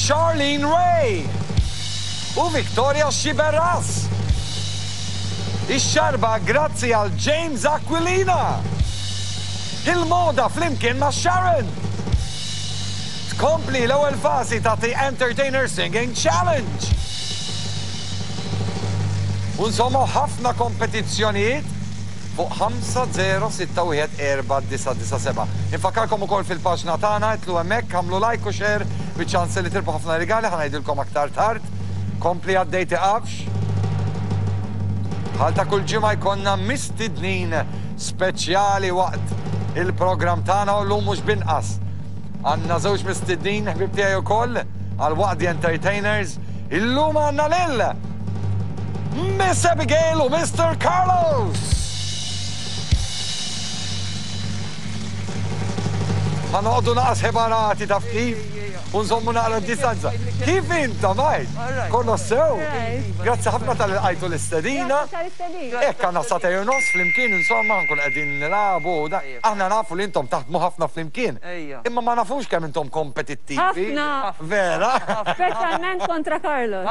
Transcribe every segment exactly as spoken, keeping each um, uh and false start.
Charlene Ray u Victoria Sciberras. Ix-xarba grazzi għal James Aquilina. Il-moda flimkien ma' Sharon. Tkompli l-ewwel fażi ta' The Entertainer Singing Challenge. U insomma ħafna kompetizzjonijiet fuq ħamsa zero sitta wieħed erba' disa' disa' seba'. Infakkarkom ukoll fil-paġna tagħna, itlu hemmhekk, għamlu like u share biċ-ċans li tirbħu ħafna rigali, ħa ngħidilkom aktar tard. Kompli għaddej tiqafx. Bħal ta' kull ġimgħa jkollna mistednin speċjali waqt il-programm tagħna u llum mhux binqas. Għandna żewġ mistednin ħbib tiegħi wkoll għal waqt The Entertainers. Illum għandna lil Miss Abigail u Mister Carlos. Ħa noqogħdu naqas ħebarati taf kif u nżommu naqra d-distanza. Kif inta, Mike? Kollox sew? Grazzi ħafna tal-li lqajtu l-istedina. Hekk għandna sagħtejn u nofs flimkien, insomma, nkun qegħdin nilagħbu u dak. Aħna nafu li intom taħdmu ħafna flimkien. Imma ma nafux kemm intom kompetittivi. Ħafna. Vera? Speċjalment kontra Carlos.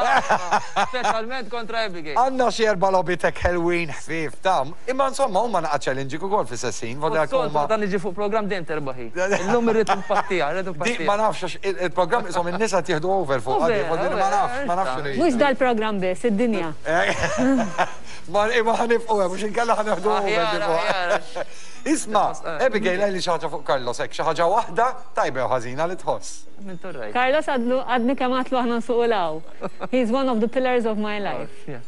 Speċjalment kontra Abigail. Għandna xi erba' logħbitek ħelwin ħfief ta' imma insomma huma naqa' challenging ukoll fis-sessin, voglio Soltu huma meta niġi fuq programm dejjem terbaħi. Illum irrid impattija, irrid Di impattija. ma nafx għax il-, il-programm isom in-nisa tieħdu over fuq U għadi, vera, voglio u ma vera, nafx, ma nafx issa. x'inhu Mhux jiġri. dal-programm biss, id-dinja. Ma imma ħanibqgħu hemm, mhux inkella ħaneħdu over Aħjar, tipo. aħjar. Isma', Eh. Abigail għalli xi ħaġa fuq Carlos hekk, xi ħaġa waħda tajba jew ħażina li tħoss. Min torrajt. Carlos għadlu għadni kemm għatlu aħna nsuqu law. He's one of the pillars of my life. Yeah.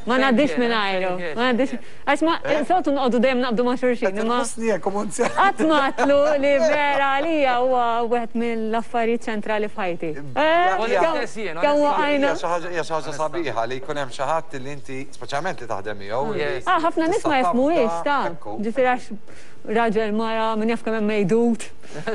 Ma ngħaddix Same minn here, għajru. same here, Ma ngħaddix. Għax ma soltu nqogħdu dejjem naqbdu ma' xulxin, imma Tħossni hekk u monzja. qatt ma għatlu li vera għalija huwa wieħed mill-affarijiet ċentrali f'ħajti. Eh, Hija kemm- stess jien, kemm onestà. waqajna. Hija xi ħaġa, hija xi ħaġa sabiħa li jkun hemm xi ħadd li inti speċjalment li taħdem miegħu. li Yes. Ah, ħafna nies ma tista' jifhmuhiex ta' ekku. Ġifieri għax raġel mara min jaf kemm hemm mejdut.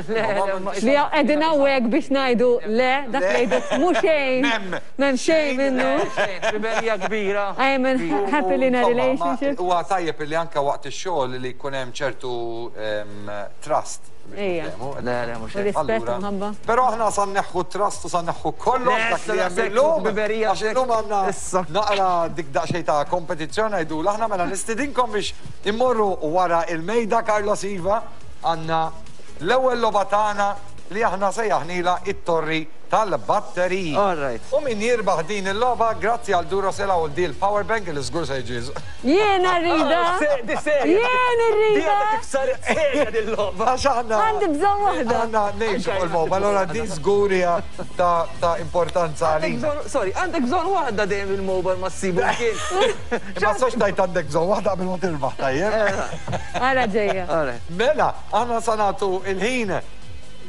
Le, le, ma- Li qegħdin hawnhekk biex ngħidu le, dak li jgħidu mhux xejn. Mem. M'hemm xejn minnu. Xejn, ħbiberija kbira. I am in happily in a Insomma, ma- relationship. Huwa tajjeb li anke waqt ix-xogħol li jkun hemm ċertu em, trust. biex Ejja. niftehmu. Le, le, mhux U hekk. rispett Allura, u mħabba. Però aħna sa nneħħu trust u sa nneħħu kollox Le, dak li issa hemm daqshekk illum. ħbiberija Għax illum għandna Issa. naqra dik daqsxejn ta' kompetizzjoni ngħidu aħna mela nistidinkom biex immorru wara il-mejda Carlos Iva għandna l-ewwel logħba tagħna li aħna sejjaħnila it-torri tal-batteriji. All right. U min jirbaħ din il-logħba grazzi għal Duracell u dil power bank li żgur se jiġi. Jiena rrida. Di serja. Jien Di irrida. għadha kif saret serja dil-logħba. Għax aħna Għandi bżonn waħda. Għandna ngħixu fuq il-mobile, allora din żgur hija ta' ta' importanza Għandek għalina. bżonn, sorry, għandek bżonn waħda dejjem il-mobile ma ssibu kien. Imma sox tajt għandek bżonn waħda qabel ma tirbaħ tajjeb. Ara ġejja. All right. Mela, aħna sa nagħtu il-ħin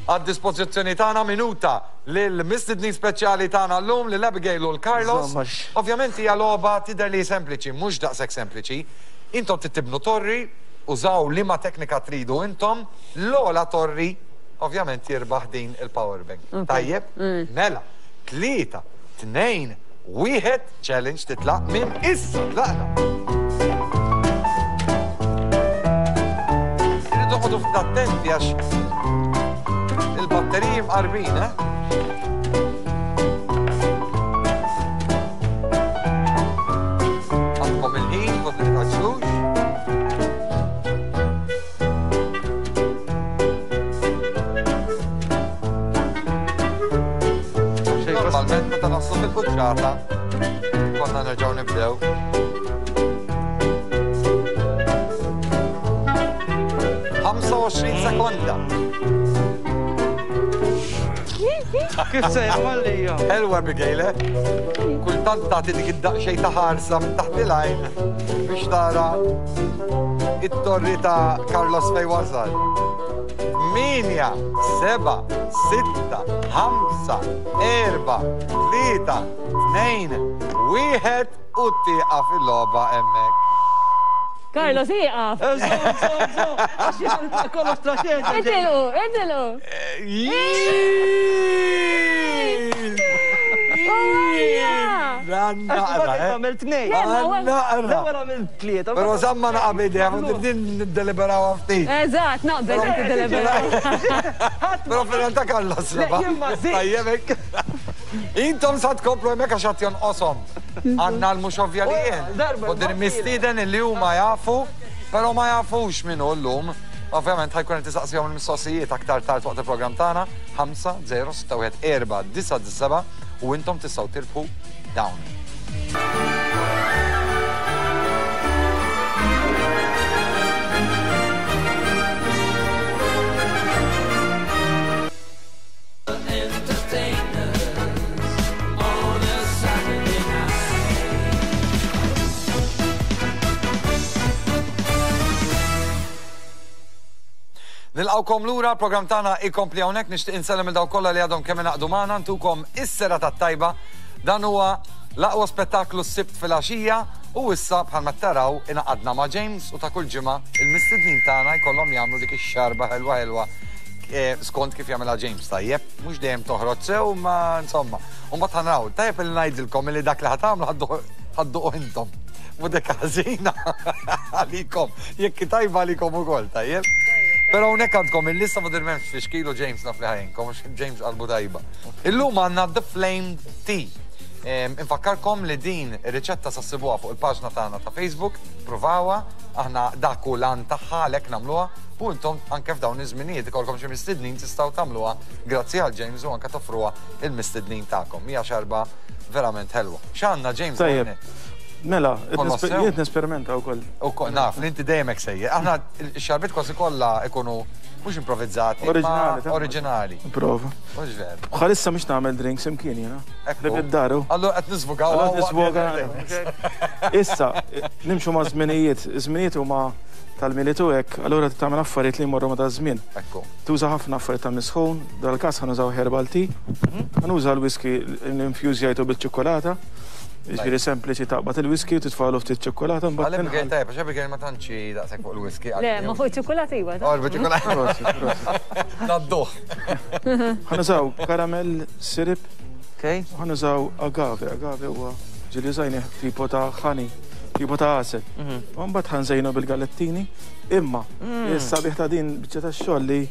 għad-dispożizzjoni tagħna minuta lil mistednin speċjali tagħna llum lil Abigail u l-Carlos. Insomma, x- Ovvjament hija logħba tidher li sempliċi, mhux daqshekk sempliċi. Intom tibnu torri, użaw liema teknika tridu intom, l-ogħla torri ovvjament jirbaħ din il-power bank. Tajjeb? Mela, tlieta, tnejn, wieħed, challenge titlaq minn issa. Tlaqna. Irridu noqogħdu ftit attenti għax il-batteriji mqarbin, eh? Għandkom il-ħin, kont li taġlux. Normalment meta naslu fil-quċċata, konna nerġgħu nibdew. ħamsa u għoxrin sekonda. Kif se jagħmel Ħelwa Abigail, eh? Kultant tagħti dik id-daqsxejn ta' ħarsa minn taħt il-għajn biex tara it-torri ta' Carlos fej wasal. Tmienja, seba, sitta, ħamsa, erba, tlieta, tnejn, wieħed u tieqaf il-logħba hemmhekk. Carlos, ieqaf. Żomm, żomm, żomm. Għax jien kollox traċedja. Itilqu, itilqu. Jien! Ejja! Għanna. Għamil tnejn. Għanna. L-ewwel għamil tlieta. Però żamma naqabidi, din niddeliberaw ftit. Eżatt, naqbel niddeliberaw. Però fil-realtà Carlos reba. Tajjeb hekk. Intom sa tkomplu hemmhekk għax qed jonqoshom. Għandna l-mhux ovvja li jien. U din mistieden li huma jafu, però ma jafux min hu llum. Ovvjament ħajkun qed tisaqsihom il-mistoqsijiet aktar tard waqt il-programm tagħna ħamsa żero sitta wieħed erba' disa' seba' u intom tistgħu tirbħu dawn. Nilqawkom lura, program tagħna ikompli hawnhekk, nixtieq insellem il dawk kollha li għadhom kemm ingħaqdu magħna, ntukom is-serata tajba. Dan huwa l-aqwa spettaklu s-Sibt filgħaxija u issa bħalma taraw ingħaqadna ma' James u ta' kull ġimgħa il-mistednin tagħna jkollhom jagħmlu dik ix-xarba ħelwa ħelwa skont kif jagħmilha James tajjeb, mhux dejjem toħroġ sew ma insomma. U mbagħad ħanraw, tajjeb li ngħidilkom li dak li ħadd ħadduqu intom. Mhu dik ħażina għalikom, jekk tajba għalikom ukoll, tajjeb. Però hawnhekk għandkom il-lista ma dirmemx fiex kilo James naf li ħajinkom, James qalbu tajba. Illum għandna The Flamed Tea. Infakkarkom li din ir-riċetta sa ssibuha fuq il-paġna tagħna ta' Facebook, provawha, aħna dak hu l-għan tagħha għalhekk nagħmluha u intom anke f'dawn iż-żminijiet ikollkom xi mistednin tistgħu tagħmluha grazzi għal James u anke toffruha il-mistednin tagħkom. Hija xarba verament ħelwa. X'għandna James? Tajjeb. Mela, jiet nesperimenta wkoll. Ukoll naf, li inti dejjem hekk sejjer. Aħna x-xarbiet kważi kollha ikunu mhux improvizzati, oriġinali. Oriġinali. Prova. Mhux veru. Bħalissa mhux nagħmel drinks imkien jiena. Ekku. Id-daru. Allura qed nisvugaw. Allura nisvuga. Issa, nimxu ma' żminijiet. Żminijiet huma tal-militu hekk, allura tagħmel affarijiet li jmorru ma' daż-żmien. Ekku. Tuża ħafna affarijiet ta' misħun, dal-każ ħanużaw herbal tea, ħanuża l-whisky l-infjużjajtu bil-ċokolata. Ġifieri sempliċi taqbad il-whisky u titfalu ftit ċokolata mbagħad. Għalhekk Abigail tajjeb, għax Abigail ma tantx daqshekk fuq il-whisky. Le, ma fuq iċ-ċokolata iva. Oh, ċokolata. Nadduh. Ħanużaw caramel syrup. Okej. Ħanużaw agave, agave huwa ġieli użajnih tipo ta' honey, tipo ta' għasel. U mbagħad ħanżejnu bil-galettini. Imma is-sabiħ ta' din biċċa tax-xogħol li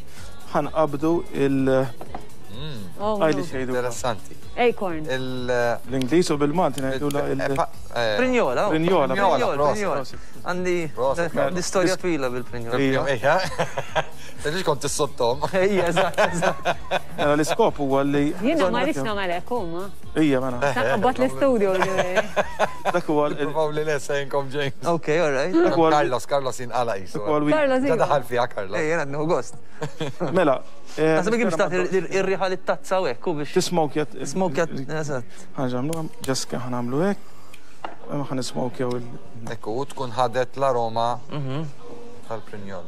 ħanqabdu il- Għajli xejdu. Interessanti. Acorn. L-Ingliż u bil-Malti ngħidu la il- Prinjola. Prinjola. Prinjola. Għandi l-istorja twila bil-prinjola. Ejja. Tgħidx kont tissottom. Ejja, eżatt, eżatt. Mela l-iskop huwa li. Jiena ma rridx nagħmel hekk huma. Ejja, mela. Taqbad l-istudio. Dak huwa. Provaw li lesa jinkom James. Ok, all right. Carlos, Carlos jinqala qisu. Carlos. Daħal fiha Carlos. Ejja, għadnu gost. Mela. Naħseb kif tagħti ir-riħa li tazza u hekk u biex. Tismokja. Tismokja, eżatt. Ħaġa nagħmlu, ġast ħa nagħmlu hekk. Ma ħa nismokjaw il. Ekku, u tkun ħadet l-aroma tal-prinjol.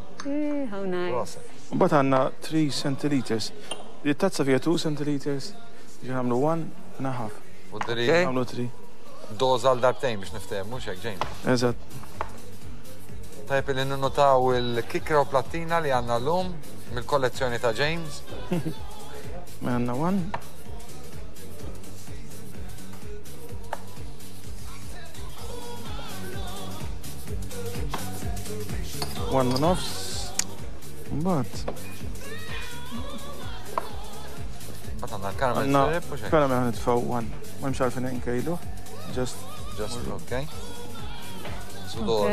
How nice. Mbagħad għandna three centiliters. Il-tazza fiha two centiliters, ġi nagħmlu one and a half. U dri nagħmlu three. Doża għal darbtejn biex niftehmu, mhux hekk James. Eżatt. Tajjeb li ninnotaw il-kikra u plattina li għandna llum mill-kollezzjoni ta' James. Għandna one. One u nofs. Mbagħad. Mbagħad għandna l-caramel syrup u xejn. Caramel ħanitfgħu one. Ma hemmx għalfejn inkejlu. Just. Just, okay. Sudor.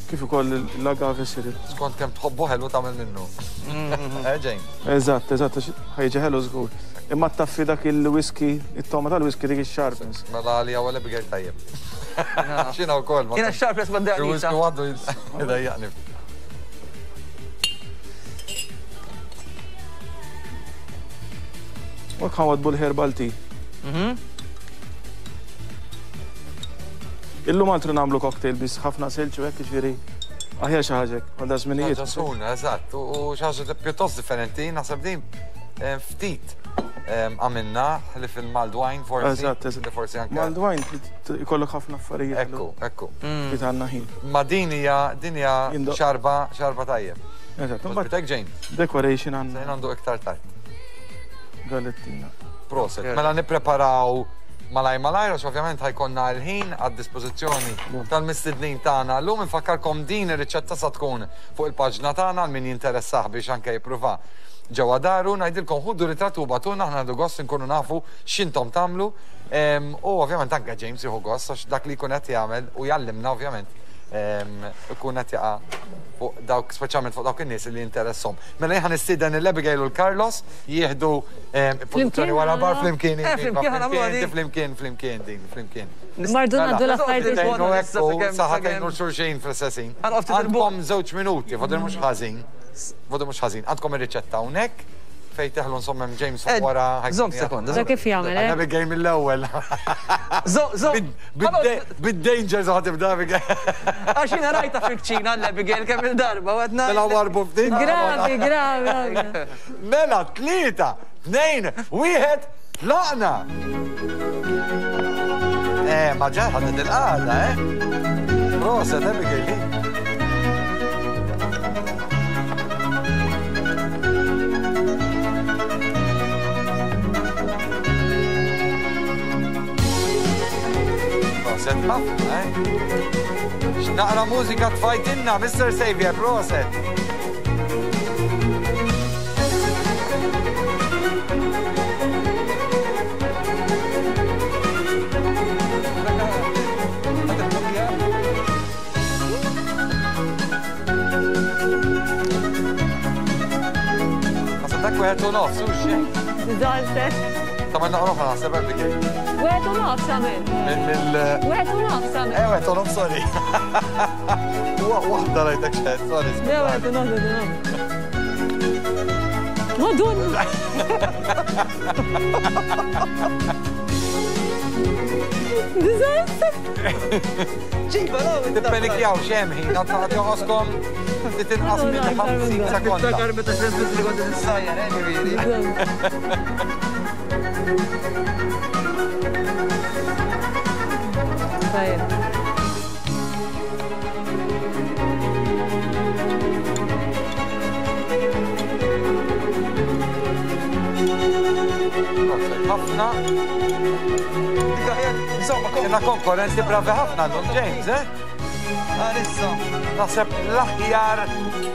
Kif ukoll l-agave syrup. Skont kemm tħobbu ħelu tagħmel minnu. Eh, James? Eżatt, eżatt, ħajġi ħelu żgur. Imma taffi dak il-whisky, it-toma tal-whisky dik ix-sharpness. Mela għalija wara Abigail tajjeb. Xina wkoll. Jiena x-sharpness ma ddejjaqnix. Il-whisky għaddu jdejjaqni. U hekk ħanwadbu l-herbal tea. Illum altru nagħmlu cocktail biss ħafna silġ u hekk jiġifieri aħjar xi ħaġa hekk għal da żminijiet. Ħaġa suna, eżatt, u xi ħaġa pjuttost differenti, naħseb din ftit għamilna li fil-mulled wine forsi. Eżatt, eżatt. Forsi anke. Mulled wine ikollok ħafna affarijiet. Ekku, ekku. Ftit għandna ħin. Ma din hija din hija xarba xarba tajjeb. Eżatt. Bitek James. Decoration għandna. Sejn għandu iktar tard. Galettina. Proset. Mela nippreparaw Malaj malaj, għax ovvjament ħa jkollna l-ħin għad-dispożizzjoni tal-mistednin tagħna. Llum infakkarkom din ir-riċetta sa tkun fuq il-paġna tagħna għal min jinteressah biex anke jippruva ġewwa daru. Ngħidilkom ħudu ritratt u bagħtulna, aħna nieħdu gost inkunu nafu x'intom tagħmlu. U ovvjament anke James jieħu gost għax dak li jkun qed jagħmel u jallimna ovvjament ikun qed jaqa' fuq dawk, speċjalment fuq dawk in-nies li jinteresshom. Mela jien nistieden lil Abigail u l-Carlos jieħdu pożizzjoni wara bar flimkien. Flimkien, flimkien, flimkien din, flimkien. Mardu ngħaddu l-affarijiet. Saħatejn u xulxin fl-istessin. Għandkom żewġ minuti, fodil mhux ħażin. Fodil mhux ħażin. Għandkom ir-riċetta hawnhekk fejn teħlu insomma James wara. Żomm sekonda. Da kif jagħmel, eh? Abigail mill-ewwel. Żomm. Bid-danger ħa tibda Abigail. Għax jiena rajta fil-kċina l-Abigail kemm il-darba u għedna. Mela warbu ftit. Gravi, gravi. Mela tlieta, tnejn, wieħed, tlaqna. Eh, ma ġa ħadet il-qagħda, eh? Proset, Abigail. Proset ħafna, eh? X'naqra mużika tfajtinna, Mister Xavier, proset. Għasab dak wieħed u nofs, u xejn. Zaltet. Ta' ma naqra oħra naħseb Abigail. Wieħed u nofs għamil. Mill. Wieħed u nofs għamil. Eh, wieħed u nofs, sorry. Waħda rajtek xed, sorry. Le, wieħed u nofs, wieħed u nofs. Madonna! Disaster! Ġiba, no! Tippelikjaw xem ħin, għad joqoskom titinqas minn ħamsin sekonda. Tiftakar meta xrezbit li kont tissajjar, eh, ġifieri. Tajjeb. Ħafna. Insomma, Kena konkurrenti bravi ħafna għandhom James, eh? Għalissa. Naħseb l-aħjar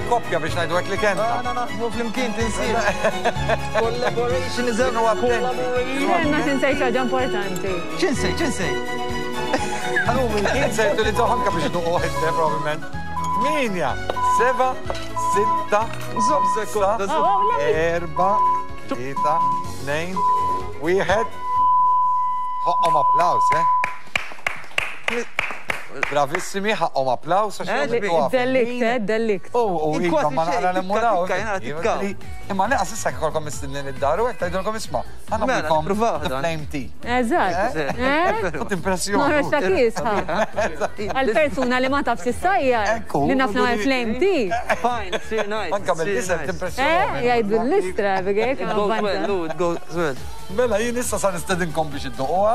koppja biex ngħidu hekk li kellna. Aħna naħdmu flimkien tinsir. Collaboration is Kienu attenti. Jenna tinsejt ħaġa importanti. X'insej, x'insej? Kien se jutilizzaw anke biex iduqu waħed, probabbilment. Tminja, seba, sitta, Żomm sekonda, żomm. erba, tlieta, tnejn, wieħed. Ħoqqhom applaws, eh? Bravissimi, ħaqqhom applaws. Delikt, eh, delikt. U, u, iva, ma naqra l-emmuraw. Tikka. Imma neqas issa jkollkom mistednin id-dar u hekk tgħidulkom isma'. Ħa nagħmlilkom the flame tea. Eżatt. Tut impressjoni. Noħroġ ta' kiesħa. Għal-persuna li ma tafx issajjar. Li naf nagħmel flame tea. Fine, it's really nice. Anka mill-isem timpressjoni. Eh, jgħidu l-istra, Abigail. It goes well, it goes well. Mela, jien issa sa nistedinkom biex idduquha.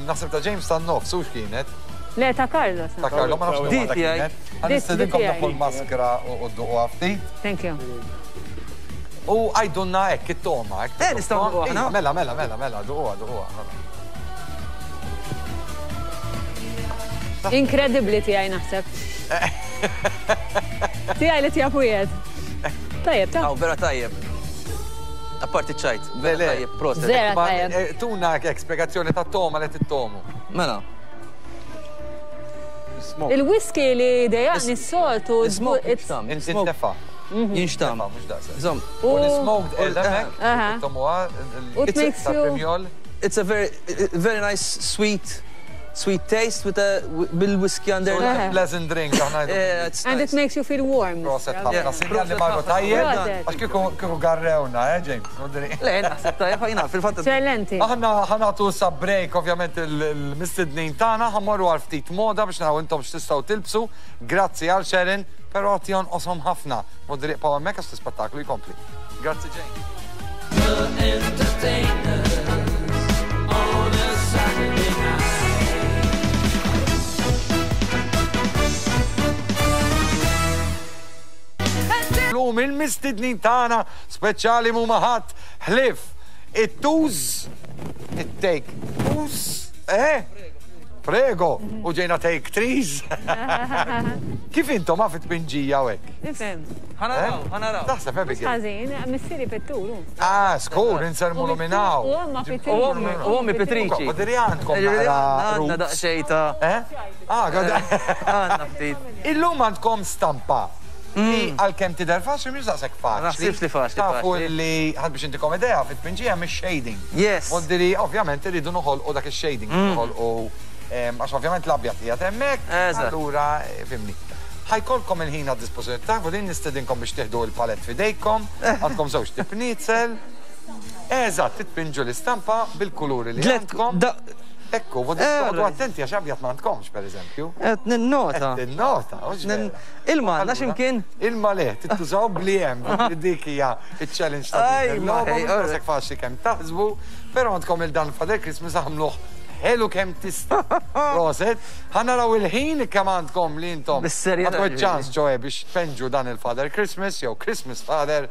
Naħseb ta' James tan-nofs, u x'kienet? Le, ta' Carlos. Ta' Carlos, ma nafx Di waħda tiegħi. kienet. Ħa nistedinkom nafu l-maskra u dduquha ftit. Thank you. U għajdunna hekk it-toma. hekk Eh, nistgħu nduquha aħna. Iva, Mela, mela, mela, mela, duquha, duquha. mela. Inkredibbli tiegħi naħseb. Tiegħi li tiegħek wieħed. Tajjeb, ta' Aw, vera tajjeb. Apparti ċajt, Le, vera le. tajjeb, proset. Vera Ma, tajjeb. eh, Tuna hekk spjegazzjoni ta' toma li tittomu. Mela, Il-whisky li dejjaqni s-soltu. Smoke it's- jinxtam. Inti ntefa. Jinxtam. Mhux daqshekk. Żomm, U l-smoked qiegħda hekk, Aha. tittomuha U it makes ta' you- primjol. it's a very very nice sweet sweet taste with a bil-whiskey under. So it's a pleasant drink, aħna ngħidu. Yeah, it's And nice. it makes you feel warm. Proset ħafna, Yeah. sinjal li marru tajjeb. Proset. Għax kieku kieku garrewna, eh, James? Nodri. Le, naħseb tajjeb ħajna, fil-fatt. Eccellenti. Aħna ħa nagħtu sa break, ovvjament il-mistednin tagħna, ħa mmorru għal ftit moda biex naraw intom x'tistgħu tilbsu. Grazzi għal Sharon, però għad jonqoshom ħafna. Modri iqgħu hemmhekk għax l-ispettaklu jkompli. Grazzi James. The Entertainers on a Saturday night. Lum il-mistednin tagħna speċjali mhuma ħadd ħlief it-tuż It-take us, eh? Prego, u ġejna take trees. Kif intom ma fit-tpinġija u hekk? Nifhem. Ħa naraw, ħa naraw. Taħseb Abigail? Ħażin, missieri pittur. Ah, skur, insermulu minn hawn. U omma pittriċi. U ommi pittriċi. Badiri għandkom naqra Għandna daqsxejn ta' Eh? Ah, għadda. Għandna ftit. Illum għandkom stampa. Li għalkemm tidher faċli mhux daqshekk faċli. Naħsibx li faċli, Tafu faċli. li ħad biex intikom idea fit-tpinġija mhix shading. Yes. Voldiri, ovvjament irridu noħolqu dak ix-shading, noħolqu għax ovvjament l-abjad qiegħed hemmhekk. Eżatt. Allura, fimni. Ħa jkollkom il-ħin għad dispożizzjoni tagħkom, din nistedinkom biex tieħdu il-palett f'idejkom, għandkom żewġ tipnizel. Eżatt, titpinġu l-istampa bil-kuluri li Tlet- għandkom. da- Ekku, vodu Eh, toqgħodu alright. attenti għax abjad ma għandkomx, per eżempju. Qed ninnota. Qed Tinnota, hux Nin- vera. Ilma għandna Allura, x'imkien? Ilma le, tittużaw bli hemm, dik hija il-challenge ta' Aj, din ma, il-logħba, ej, mhux alright. daqshekk faċli kemm taħsbu, però għandkom il-dan Father Christmas għamluh ħelu kemm tista'. Proset, ħa naraw il-ħin kemm għandkom li intom. Bis-serjetà, Għandkom ġifieri. ċans ġoe biex tpenġu dan il-Father Christmas jew Christmas Father.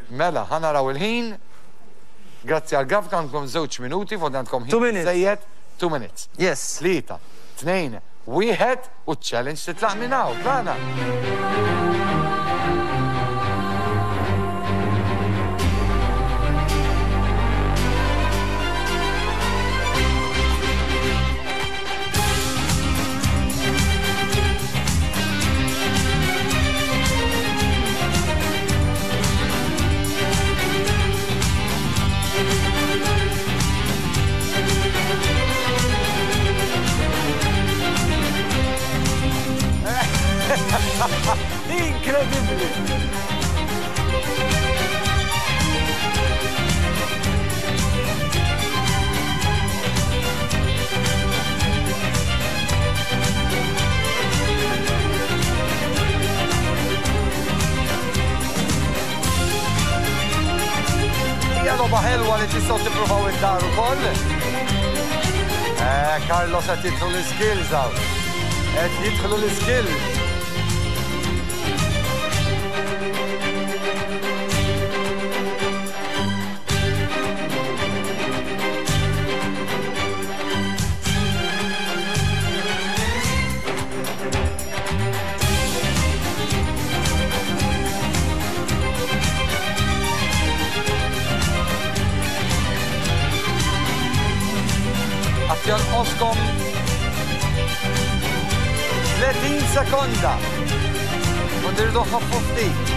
Mela, ħa naraw il-ħin. Grazzi għal grafika għandkom żewġ minuti, fuq għandkom ħin Two minutes. żejjed, two minutes. Yes. Tlieta, tnejn, wieħed u challenge titlaq minn hawn, tlaqna. Incredibili! Hija logħba ħelwa li tistgħu tippruvaw id-dar ukoll. Eh, Carlos qed jidħlu l-skills hawn. Qed jidħlu l-skills. Għad jonqoskom tletin sekonda. U dirdu ħaffu ftit.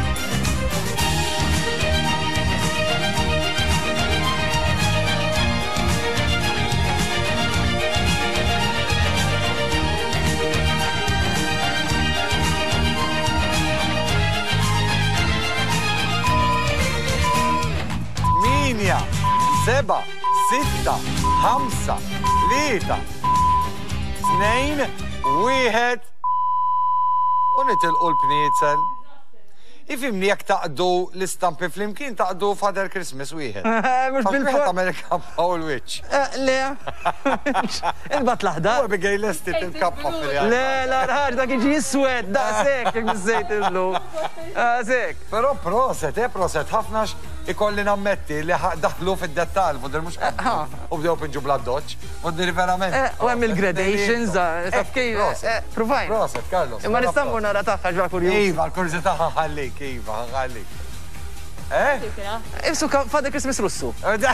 Tmienja, seba, sitta, ħamsa, tlieta, tnejn, wieħed u nitilqu l-pniezel. Ifimni jekk taqdu l-istampi flimkien taqdu Father Christmas wieħed. Mhux Għax wieħed bil-for. tagħmel il-kappa u l-wiċċ. Eh, Le. Ilbat U l-aħdar. Abigail lesti il-kappa fil-realtà. Le, la ħaġa dak iġi iswed, daqshekk jekk biżejt il-blu. Daqshekk. Però proset, eh, proset, ħafna ikolli nammetti li ħa- daħlu fid-dettal, fuq mhux u bdew pinġu bla doċ, u verament. Eh, U hemm il-gradations, da, taf Eh, kif, proset. eh, provajna. Proset, Carlos. Imma mela nista' mmur proset. nara tagħha ġra kurjuż. Iva, l-kurżità ħallik, iva, ħallik. Eh? Ibsu Father Christmas Russu. Qed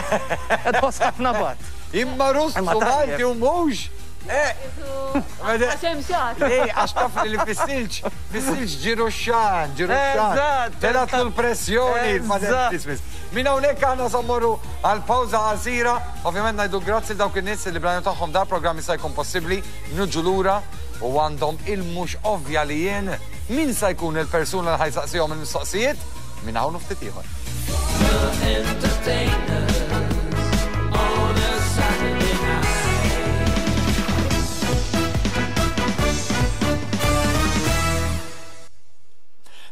tħoss ħafna bat. Imma Russu Imma tajjeb. Malti u mhux. Eh, Għax hemm xagħar. Le, għax taf li fis-silġ, fis-silġ ġiru xan, ġiru xan. Eżatt. Telatlu l-pressjoni il-Father Eżatt. Christmas. Min hawnhekk aħna sa mmorru għal pawża qasira, ovvjament ngħidu grazzi dawk in-nies li bl-għajnuna tagħhom da programm jista' jkun possibbli, nuġu lura u għandhom il-mhux ovvja li jien min sa jkun il-persuna li ħa jsaqsihom il-mistoqsijiet minn hawn u ftit ieħor. Entertainers on a Saturday night.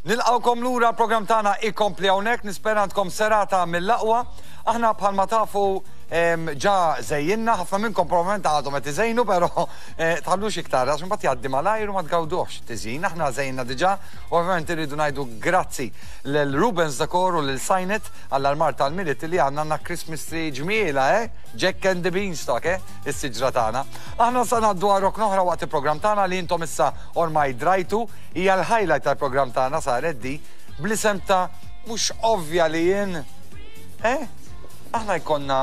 Nilqawkom lura l-programm tagħna ikompli hawnhekk, nispera għandkom serata mill-aqwa. Aħna bħalma tafu Ġa żejjinna, ħafna minnkom probabbilment għadhom qed iżejnu, però eh, tħallux iktar għax imbagħad jgħaddi malajr u ma tgawduhx tiżjin. Aħna żejjinna diġà, u ovvjament irridu ngħidu grazzi lil Rubens Decor u lil Signet għall-armar tal-Milied li għandna għandna Christmas tree ġmiela, eh? Jack and the Beanstalk, eh? Is-siġra tagħna. Aħna sa ngħaddu għal oħra waqt il-programm tagħna li intom issa ormai drajtu, hija l-highlight tal-programm tagħna saret di bl-isem ta' mhux ovvja li jien. Eh? Aħna jkollna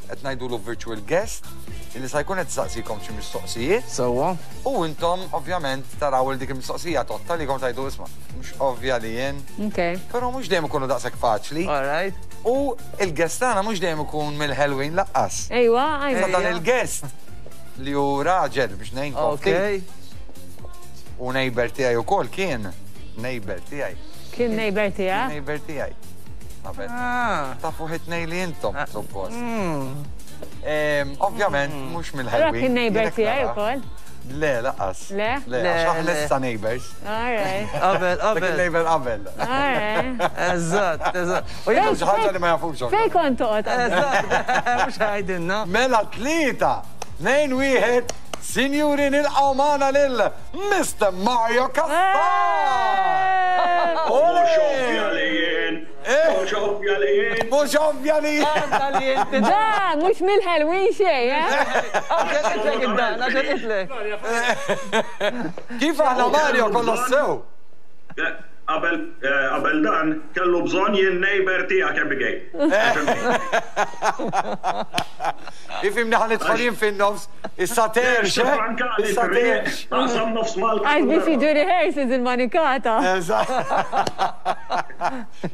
qed ngħidulu virtual guest illi sa jkun qed saqsikom xi mistoqsijiet. Sewwa. U intom ovvjament taraw il dik il-mistoqsija totta li kom tajdu isma' mhux ovvja li jien. Ok. Però mhux dejjem ikunu daqshekk faċli. All right. U il-guest tagħna mhux dejjem ikun mill-Halloween lanqas. Ejwa, Sa ajwa. dan il-guest li hu raġel biex ngħinkom Ok. ftit. U neighbor tiegħi wkoll kien neighbor tiegħi. Kien neighbor tiegħek? Neighbor tiegħi. Qabel. Ah. Tafu ħitnej li intom, suppost. Mm. Em, Ovvjament, mhux Allora mill-Halloween. kien neighbor Jiena tiegħi nara. ukoll? Le, lanqas. Le? Le, Le, għax aħna le. issa neighbors. All right. Qabel, Dak qabel. il-neighbor qabel. All right. Eżatt, eżatt. U Jien jien xi ħaġa li ma jafux. Fej kont toqgħod? Eżatt, mhux ħajdinna. Mela tlieta, tnejn wieħed, sinjuri nilqgħu magħna lil Mr. Mario Cassar! Mhux ovvja li jien. Eh. Mhux ovvja li jien. Mhux ovvja li Għadda li inti. Da, mhux mill-Halloween xejn, eh? Għaxan itlek id-dan, għaxan itlek. Kif aħna Mario kollox sew? Qabel eh, qabel dan kellu bżonn jien neighbor tiegħek Abigail. Ifimni ħa nidħol jien fin-nofs, issa terx, eh? Issa terx. Taqsam nofs Malta. Għax biex jiġu rehearsals il-manikata. Eżatt.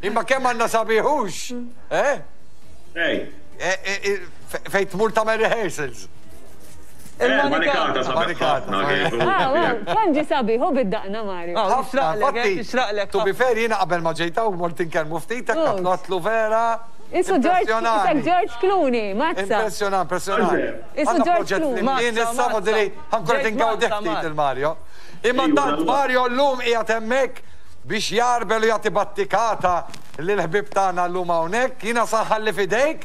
Imma kemm għandna sabiħux, eh? Ej, Eh, eh, eh, fe- Fejn tmur tagħmel rehearsals. il-manikata sabiħ Manikata, ħafna kif. Ah, wow, kemm ġi sabiħ, u bid-daqna Mario. Ah, Ħafna, Xraqlek, infatti, xraqlek. To be fair, jiena qabel ma ġejta u mort inkellmu ftit, Oh. għatlu għatlu vera. Isu George, isek Impressjonani. George Clooney, mazza. Impressjonant, impressjonant. Isu Għandna George proġett Clooney. flimkien Mazza, issa mazza. fodili ħa nkun Ġejt ingawdek mazza, ftit Mar. il-Mario. Imma Ejwa, tant dal-waqt. Mario llum qiegħed hemmhekk biex jarbel u jagħti battikata lil ħbib tagħna llum hawnhekk. Jiena saħħalli f'idejk.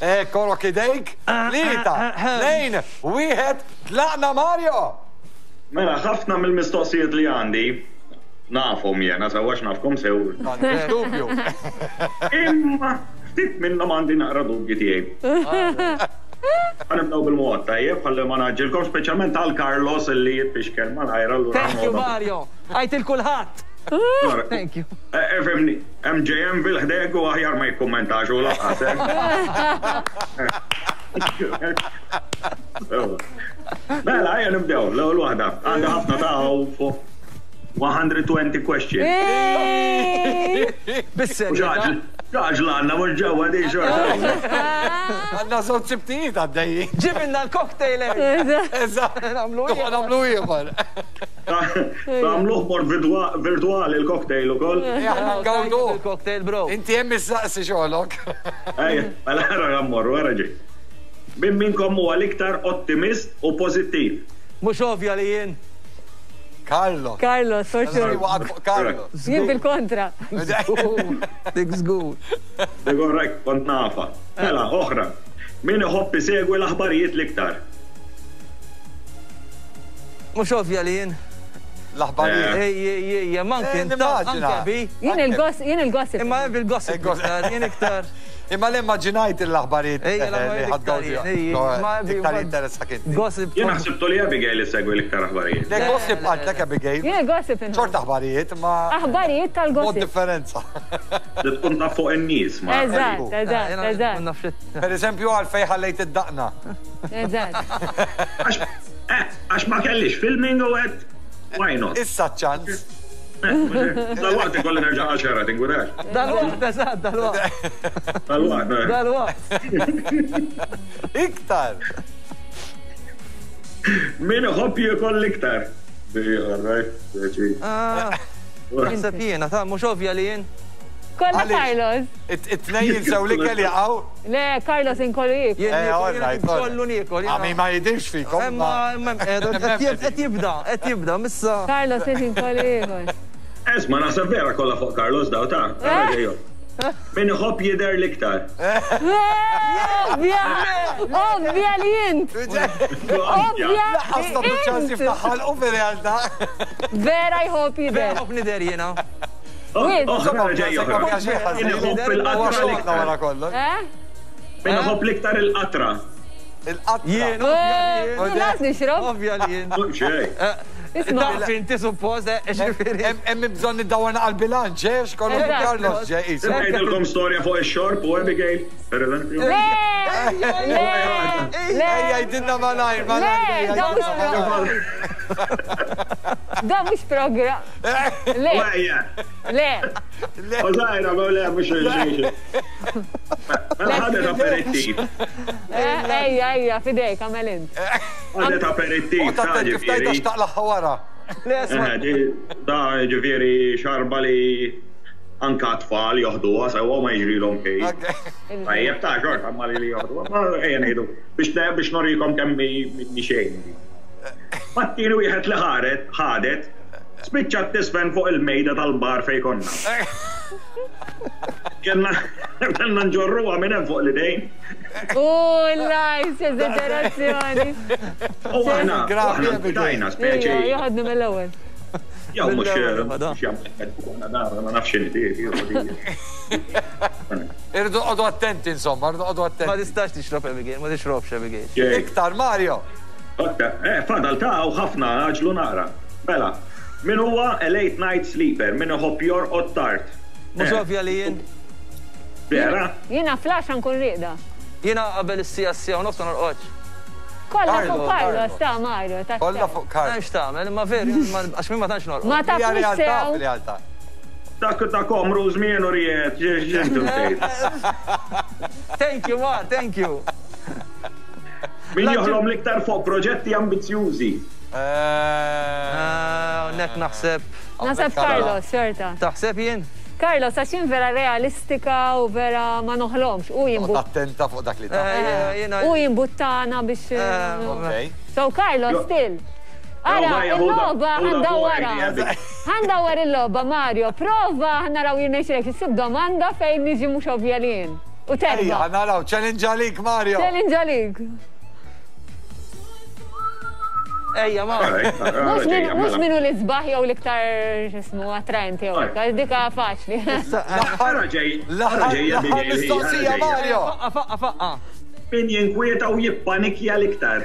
Eh, korok idejk. Tlieta, tnejn, wieħed, tlaqna Mario. Mela, ħafna mill-mistoqsijiet li għandi nafhom jena, sewwa nafkom sew. M'għandix dubju. Imma ftit minnhom għandi naqra dubji tiegħi. Ħa nibdew bil-mod tajjeb, ħalli ma naġilkom speċjalment għal Carlos illi jitfixkel malajr allura. Thank you, Mario. Għajt il-kulħadd. Thank you. Efemni, MJM fil-ħdeg u aħjar ma jikkommentax u lanqas. eh. Mela, ejja nibdew, l-ewwel waħda. Għandi ħafna ta' fuq one hundred twenty questions. Bis-serjetà. Ġaġla għandna mhux ġewwa di xorta. Għandna żewġ sibtijiet għaddejjin. Ġibilna l-cocktail. Eżatt. Nagħmlu ieħor. Nagħmlu ieħor. Għamluh bord virtuali il-cocktail ukoll. Aħna ngawdu. Il-cocktail, bro. Inti hemm issaqsi xogħolok. Ejja, mela ħara mmorru, ħara ġej. Min minkom huwa l-iktar ottimist u pożittiv? Mhux ovvja li jien. Carlo. Carlos, for sure. Waqgħet fuq Carlo. Jien bil-kontra. Dik żgur. Korrekt, kont nafa. Mela, oħra. Min iħobb isegwi l-aħbarijiet l-iktar? Mhux ovvja li jien. L-aħbarijiet. Ej, ej, ej, ej, man Eh, kien ta' nimmaġina. anke bi. Jien il-gossip, jien il-gossip. Imma bil-gossip Il-gossip. iktar, jien iktar. Imma li immaġinajt l-aħbarijiet Ej, eh, l-aħbarijiet li ħadgawdi. iktar jien, ej, ma bi- Iktar ma- jinteressak inti. Gossip. Jien ħsibtu li Abigail issegwi l-iktar aħbarijiet. Le gossip għaltlek Abigail. Jien il-gossip inħobb. Xorta aħbarijiet, ma Aħbarijiet mod tal-gossip. differenza. Li tkun taf fuq in-nies ma. Eżatt, eżatt, eżatt, Per eżempju, għalfej ħallejt id-daqna. eżatt. Għax eh, għax ma kellix filming u għedt why not? Issa ċans. Dal-waqt ikolli nerġa' għaxara, tinkwetax. Dal-waqt, eżatt, dal-waqt. Dal-waqt. eh. Dal-waqt. Iktar. Min iħobb jiekol l-iktar? All right, Ah, Naħseb jiena, ta' mhux ovvja li jien. Kolla Għaliex? Carlos. It-tnejn jinsew li kelli jaqgħu. Le, Carlos inkollu jiekol. Jien Eh, niekol, all jien right, all kollu niekol. jiena. Għami ma jidirx fikom. Imma, imma, qed jib- qed jibda, qed jibda, missa. Carlos inkollu jiekol. Esma, naħseb vera kollha fuq Carlos daw ta' Ara ġejjo. Min iħobb jidher l-iktar. Ovvja! Ovvja li int! Ovvja! Laqqas tagħtu ċans jiftaħ ħalqu fir-realtà. Vera jħobb jidher. Vera ħobb nidher jiena. Oħra ġej oħra. Min iħobb il-qatra l-iktar. Min iħobb l-iktar il-qatra. Il-qatra. Jien, ovvja li jien. Nas nixrob. Ovvja li jien. Xej. Taf inti suppost, ġifieri. Hemm bżonn iddawwarna għall-bilanċ, eh, xkollu Carlos ġej qisu. Ngħidilkom storja fuq ix-xorb u Abigail, per eżempju. Le! Le! Le! Jgħidilna malajr, malajr. Le, da mhux Da mhux programm. Le. Le. Ożajra, ma le mhux xejn. Mela ħadet aperittiv. Ejja, ejja, fidejk, għamel int. Ħadet aperittiv. U ta' kif tajta xtaqlaħħa wara. Da ġifieri xarba li anka tfal joħduha sewwa ma jiġrilhom xejn. Tajjeb ta' xorta ma li joħduha, ma ejja ngħidu biex biex norikom kemm mi xejn. Mat-tieni wieħed li ħaret, ħadet, spiċċat tisfen fuq il-mejda tal-bar fejn konna. Kellna kellna nġorruha minn hemm fuq l-idejn. U lajs, eżagerazzjoni. U aħna, aħna tajna speċi. Joħodnu mill-ewwel. Jew mhux mhux jagħmel da ma nafx inti. Irridu noqogħdu attenti insomma, irridu noqogħdu attenti. Ma tistax tixrob Abigail, ma tixrobx Abigail. Iktar Mario. Eh, fadal ta' u ħafna għaġlu nara. Mela, min huwa a late night sleeper, min iħobb jorqod tard. Mhux ovvja li jien. Vera? Jiena flash nkun rieqda. Jiena qabel is-sija s-sija u nofs ma norqodx. Kollha fuq Carlos, ta' Mario, ta' Kollha fuq Carlos. M'hemmx tagħmel, imma veru, għax min ma tantx norqod. Ma tafx sew. Dak ta' komru żmien u ried, ġentu tgħid. Thank you, Mar, thank you. Min joħlom l-iktar fuq proġetti ambizzjużi. Nek naħseb. Naħseb Carlos, xorta. Taħseb jien? Carlos, għax jien vera realistika u vera ma noħlomx. U jimbu. Attenta fuq dak li ta' U jimbuttana biex. So Carlos, still. Ara, il-logħba ħandawwara. Ħandawwar il-logħba, Mario. Prova ħnaraw jirnexxilek issib domanda fejn niġi mhux ovvja li jien. U terġa'. Naraw, challenge għalik, Mario. Challenge għalik. Ejja, ma. Mhux minnu l-isbaħ jew l-iktar x'ismu attraenti jew hekk, dika faċli. L-aħħar mistoqsija, Mario. Faqqa, faqqa, faqqa. Min jinkwieta u jippanikja l-iktar.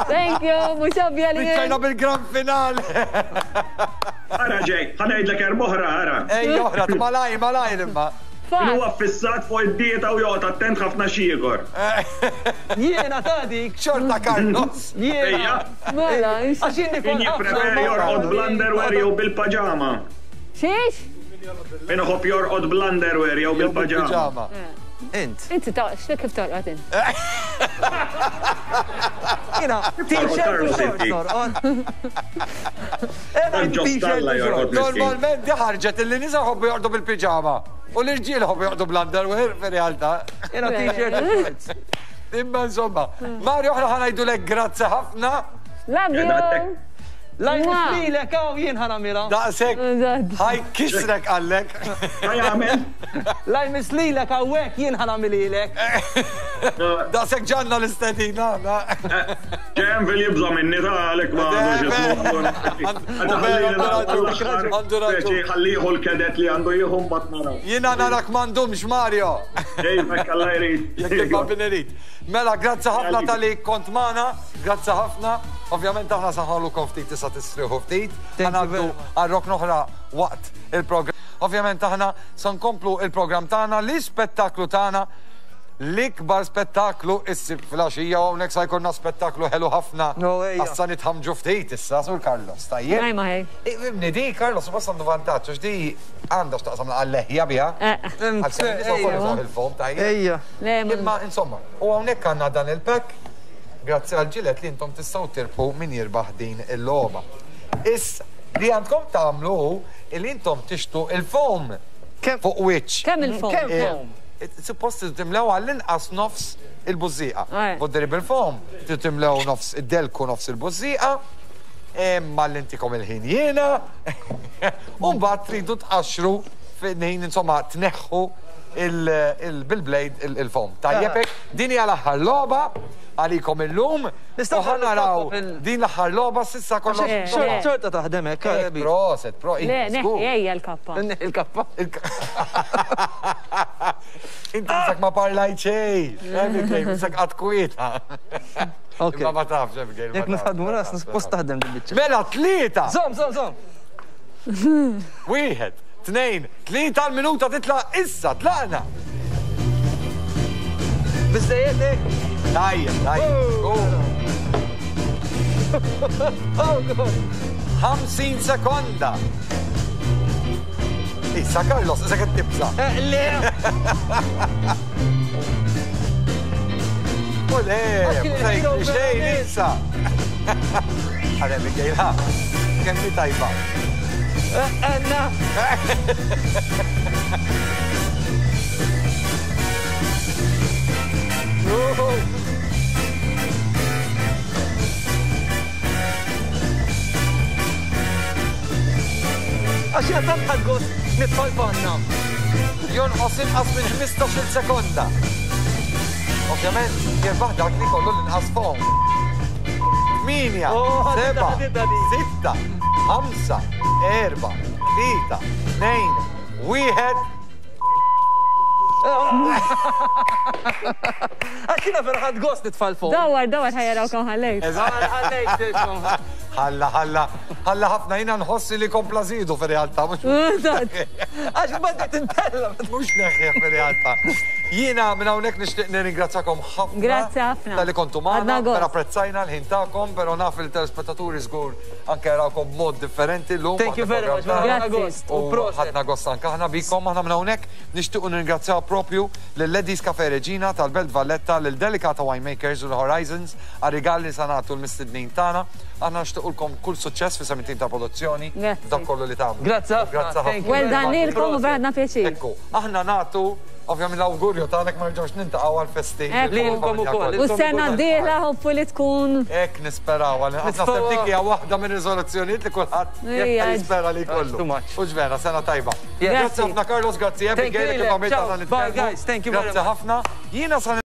Thank you, mhux ovvja li. Biċċajna bil-gran finale. Ara ġej, ħa ngħidlek erba' oħra, ara. Ej, oħra, malaj, malaj imma. Min huwa ffissat fuq id-dieta u joqgħod attent ħafna x'jiekol. Jiena ta' dik. Xorta Carlos. Jiena. Mela, għax jien nikol Min jippreferi jorqod bl-underwear jew bil-paġama. Xiex? Min iħobb jorqod bl-underwear jew bil-paġama. Int. Inti ta' x'li kif torqod int? Jiena, t-shirt u shorts torqod. Normalment di ħarġet illi nisa jħobbu jorqdu bil-piġama. U l-irġiel jħobbu jorqdu bl-underwear fir-realtà. Jiena t-shirt u shorts. Imma insomma, Mario aħna ħa ngħidulek grazzi ħafna. Love you. Lajn lilek hawn jien ħa nagħmilha. Daqshekk ħaj kisrek għallek. Ħajamel. Lajn mislilek hawnhekk jien ħa nagħmililek. Daqshekk ġanna l-istedina. Ġem fil jibża minni ta' għalek ma għandux ismu. Għandu raġun. Ħalliħu l-kedet li għandu jieħu mbagħad naraw. Jiena narak m'għandhomx Mario. Ej, mekk Alla jrid. Jekk ibqa' bin irid. Mela, grazzi ħafna tal-li kont magħna, grazzi ħafna. Ovvjament aħna saħħalukom ftit tista' tistrieħu ftit. Thank you Ħa ngħaddu very much. għal-rok oħra waqt il-programm. Ovvjament aħna se nkomplu il-programm tagħna, l-ispettaklu tagħna, l-ikbar spettaklu issib filgħaxija u hawnhekk sa jkollna spettaklu ħelu ħafna. No, ejja. Issa nitħamġu ftit issa sur Carlos, tajjeb? Ngħaj ma ħej. Ibni di Carlos suppost għandu vantaġġ għax di għandha x'taqsam għal-leħja biha. Eh. Għal-kemm nisa wkoll użaw il-fom, tajjeb. Ejja. Le, ma- Imma insomma, u hawnhekk għandna dan il-pack grazzi għal Gillette li intom tistgħu tirbħu min jirbaħ din il-logħba. Issa li għandkom tagħmlu hu li intom tixtru il-foam Kemm- fuq wiċċ. Kemm il-foam? Kemm foam? Suppost timlew għall-inqas nofs il-bużżieqa. Aj. Vodderi bil-foam, timlew nofs id-delku nofs il-bużżieqa, imma l-intikom il-ħin jiena, u mbagħad tridu tqaxxru Fejn insomma tneħħu bil-blade il-foam. Tajjeb hekk, din hija l-aħħar logħba għalikom illum. U ħa naraw din l-aħħar logħba s'issa kollox. Xorta taħdem hekk. Proset, pro. Le, neħħi ejja l-kappa. Il-kappa. Inti sak ma parlajt xejn. Sak qatt kwieta. Ma ma tafx, Abigail. Jekk nħadmu ras, post taħdem din biċċa. Mela tlieta. Żomm, żomm, żomm. Wieħed, tnejn, tlieta l-minuta titla' issa, tlaqna. Biżżejjed hekk. Tajjeb, tajjeb. Oh God. ħamsin sekonda. Issa Carlos, issa qed tibża'. Le. U le, xejn issa. Għale, Abigail, ha. Kemm hi tajba. Anna. Għax jena tant ħadt gost nitfal panna. Jonqos inqas minn ħmistax-il sekonda. Ovvjament, jirbaħ dak li kollu l-inqas foam. Tmienja, seba', sitta, ħamsa, erba', tlieta, tnejn, wieħed. Għax jiena vera ħadt gost nitfal foam. Dawar, dawar ħa jaraw kemm ħallejt. Ħallejt. Ħalla, ħalla, ħalla ħafna jiena nħossi li kompla żidu fir-realtà. Għax badiet intella. Mhux neħħieħ fir-realtà. Jiena minn hawnhekk nixtieq nirringrazzjakom ħafna. Grazzi ħafna. Talli kontu magħna, vera apprezzajna l-ħin tagħkom, però naf il-telespettaturi żgur anke jarawkom b'mod differenti llum. Thank you very much. Ħadna gost. U ħadna gost anke aħna bikom, aħna minn hawnhekk nixtiequ nirringrazzjaw propju lil Ladies Cafe Regina tal-Belt Valletta, lil Delicata Winemakers u l-Horizons għar-rigal li sa nagħtu l-mistednin tagħna. Aħna nixtiequlkom kull suċċess fi sementin ta' produzzjoni. Dak kollu li tagħmlu. Grazzi ħafna. Well done lilkom u vera ħadna pjaċir. Ekku, aħna nagħtu ovvjament l-awgurju tagħna ma nerġgħux nintaqgħu għall-festi. Lilkom ukoll. U sena d-dieħla hopefully tkun. Hekk nisperaw, għal naħseb dik hija waħda minn riżoluzzjonijiet li kulħadd jispera li jkollu. U ġvera, sena tajba. Grazzi ħafna Carlos, grazzi Abigail, kif għamilt aħna nitkellmu. Bye guys, thank you very much. Grazzi ħafna. Jiena sa